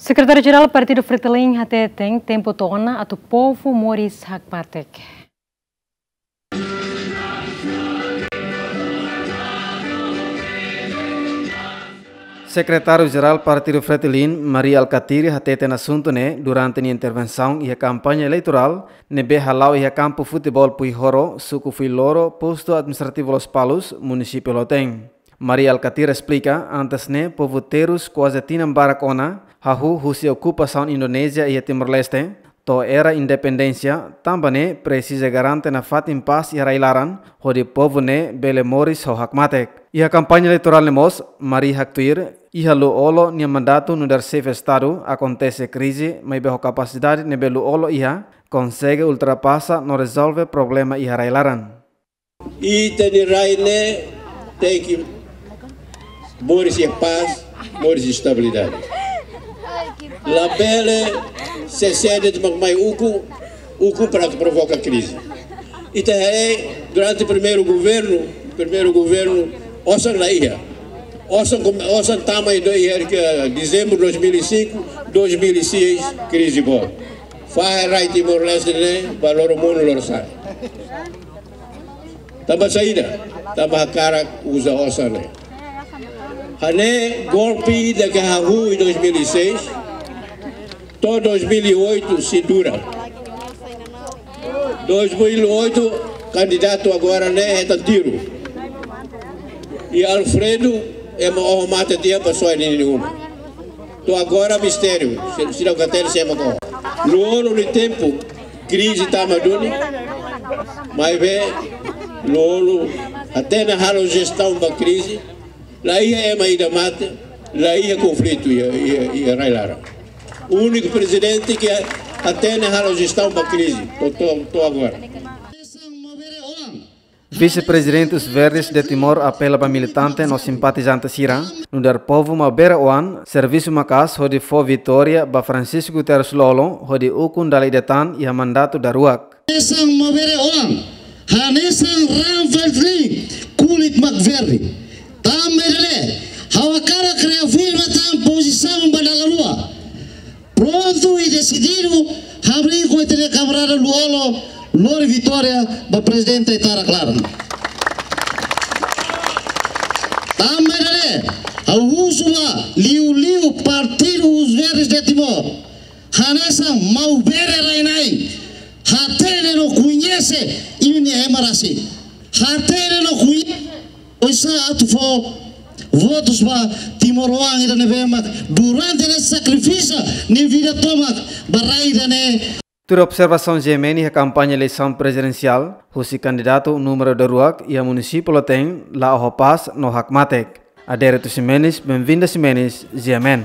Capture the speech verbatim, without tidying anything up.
Sekretáriu Jerál Partidu Fretilin hateten tempu to'o ona atu povu moris hakmatek. Sekretáriu Jerál Partidu Fretilin, Mari Alkatiri, hateten asuntu ne'e durante nia intervensaun iha kampaña eleitorál ne'ebé hala'o iha kampu futeból Puihoro, suku Fuiloro, postu administrativu Lospalos, munisípiu Lautein. Mari Alkatiri esplika, antes ne'e povu terus kuaze tinan barak ona hahú husi okupasaun Indonézia iha Timor-Leste, to'o era independénsia, tanba ne'e presiza garante nafatin pás iha rai-laran, hodi povu ne'e bele moris ho hakmatek. Iha kampaña eleitorál ne'e mós, Mari haktuir, iha Lú-Olo nia mandatu nu'udar xefe Estadu akontese krize, maibé ho kapasidade ne'ebé Lú-Olo iha, konsege ultrapasa no rezolve problema iha rai-laran. Ita-nia rai ne'e tenke moris iha pás, moris iha estabilidade. Labele se sede mak mai ukun, ukun para provoka krize. Ita haree durante primeiru governu, primeiru governu, osan la iha. Osan, osan tama iha dezembru dois mil e cinco, dois mil e seis, krize boot. Fahe rai Timor-Leste ne'e ba loro monu loro sa'e. Tanba saida? Tanba hakarak uza osan ne'e. Hanesan golpe ida ke hahú iha dois mil e seis, to'o dois mil e oito sei dura. Dois mil e oito, kandidatu agora ne'e hetan tiru. I Alfredo, ema oho mate tiha ba soe ninia uma. To'o agora mistériu, se, seidauk hatene sé mak oho. Loro de tempu, krize tama duni, maibé Lú-Olo hatene halo jestaun ba krize, la iha ema ida mate, la iha konflitu iha, iha, iha rai-laran. Úniku prezidente ke hatene halo jestaun ba krize, to'o, to'o, to'o agora. Vise-Prezidente Os Verdes de Timor apela ba militante no simpatizante sira, nu'udar povu mak bere-oan, servisu maka'as hodi fó vitória ba Francisco Guterres Lú-Olo, hodi ukun dala ida tan iha mandatu daruak. Hanesan mak bere-oan, hanesan raan Fretilin, kulit mak verde. Tanba ida-ne'e, ha'u hakarak reafirma tan pozisaun ba dala rua. Prontu i desididu, hamriik ho ita-nia kamarada Lú-Olo, lori vitória ba prezidente ita-nia klaran. Tanba ida-ne'e, ha'u husu ba liuliu Partidu Os Verdes de Timor, hanesan maubere rai-na'in, hatene no koñese imi-nia ema rasik. Hatene no koñese oinsá atu fó votus ba timoroan ida ne'ebé mak durante ne'e sakrifísiu nia vida tomak ba rai ida-ne'e. Tuir observasaun G M N iha kampaña eleisaun prezidensiál, husi kandidatu númeru daruak iha munisípiu Lautein la oho pás no hakmatek. Adérito Ximenes, Benvinda Ximenes, G M N.